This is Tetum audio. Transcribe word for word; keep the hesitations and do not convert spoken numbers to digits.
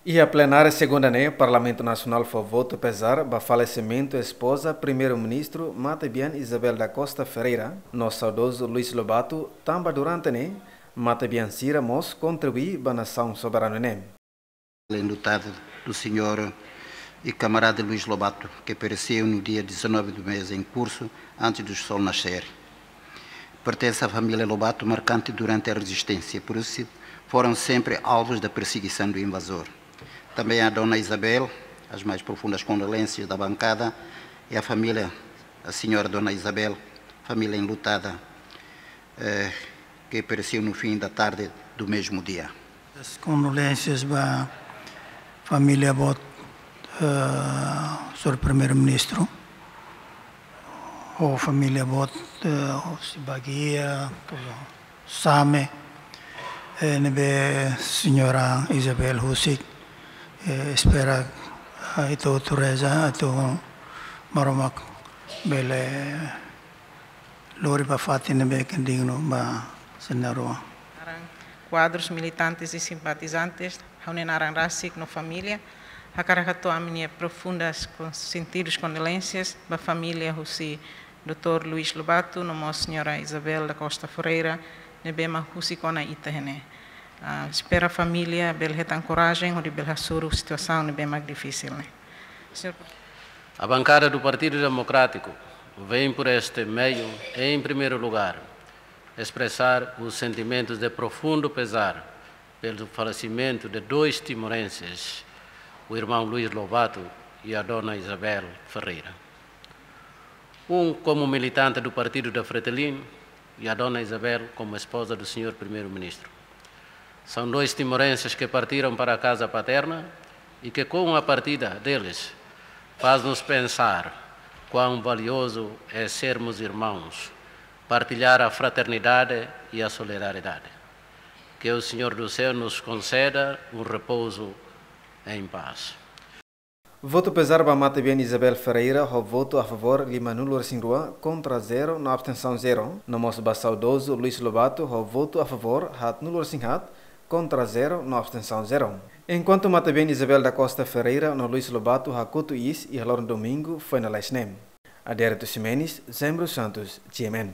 Iha plenária segunda ne'e, Parlamentu Nasionál fó votu pezár ba falesimentu espoza Primeiru-Ministru Matebian Isabel da Costa Ferreira, no saudozu Luís Lobato, tanba durante ne'e, matebian sira mós kontribui ba nasaun soberanu ne'e. Enlutada do senhor e camarada Luís Lobato, que pereceu no dia dezanove do mês em curso, antes do sol nascer. Pertence à família Lobato, marcante durante a resistência, por isso foram sempre alvos da perseguição do invasor. Também a dona Isabel, as mais profundas condolências da bancada, e a família, a senhora dona Isabel, família enlutada, eh, que pereceu no fim da tarde do mesmo dia. As condolências ba família boot, eh, señór Primeiru-Ministru, ho família boot, eh, husi Baguia, Same, eh, ne'ebé señora Isabel husik, eh, espera, eh, ita hotu reza, atu Maromak bele lori ba fatin ne'ebé ke dignu ba sira na'in-rua. Naran kuadrus, militantes e simpatizantes, ha'u-nia naran rasik no família, hakarak hato'o ami-nia profundas kon-, sentidos condolências ba família husi doutór Luís Lobato, no mós señora Isabel da Costa Ferreira, ne'ebé mak husik ona ita iha ne'e. Ah, espera família bele hetan korajen hodi bele hasoru situasaun ne'ebé mak difisil ne'e. Señór A bancada do Partido Democrático vem por este meio, em primeiro lugar, expressar os sentimentos de profundo pesar pelo falecimento de dois timorenses, o irmão Luís Lobato e a dona Isabel Ferreira. Um como militante do Partido da Fretilin e a dona Isabel como esposa do senhor Primeiro-Ministro. São dois timorenses que partiram para a casa paterna e que, com a partida deles, faz-nos pensar quão valioso é sermos irmãos, partilhar a fraternidade e a solidariedade. Que o Senhor do Céu nos conceda um repouso em paz. Votu pezár ba matebian Isabel Ferreira ho votu a favór limanulu-resin-rua, kontra zero no abstensaun zero. No mós ba saudozu Luís Lobato ho votu a favór haatnulu-resin-haat, kontra zero no abstensaun zero. Enkuantu matebian Isabel da Costa Ferreira no Luís Lobato hakotu iis iha loron domingu foin lalais ne'e. Adérito Ximenes, Zembro Santos, G M N.